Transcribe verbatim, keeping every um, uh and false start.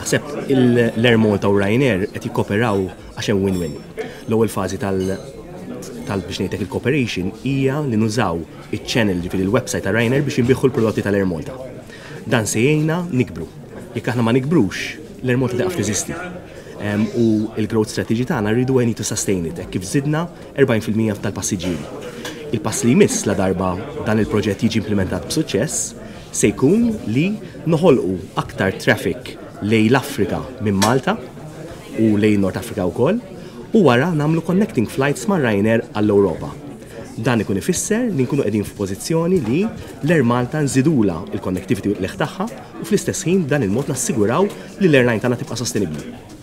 Naħseb l-Air Malta u Ryanair qed jikkoperaw għax hemm win-win. L-ewwel fażi tal tal biex ngħidlek il-cooperation hija li nużaw iċ-channel, ġifieri l-website ta' Ryanair, biex inbiegħu l-prodotti tal-Air Malta. Dan se jgħinna nikbru. Jekk aħna ma nikbrux, l-Air Malta tieqaf teżisti. U il-growth strategy tagħna rridu, we need to sustain it, kif żidna erbgħin fil-mija tal-passiġġieri. Il-pass li jmiss, la darba dan il-proġett jiġi implementat b'suċċess, se jkun li noħolqu aktar traffic lejn l-Afrika minn Malta u lejn North Africa wkoll, u wara nagħmlu connecting flights ma' Ryanair għall-Ewropa. Dan ikun ifisser li nkunu qegħdin f'pożizzjoni li l-Air Malta nżidula il-connectivity l tagħha u fl-istess ħin dan il-mod nassiguraw li l-airline tagħna tibqa' sostenibbli.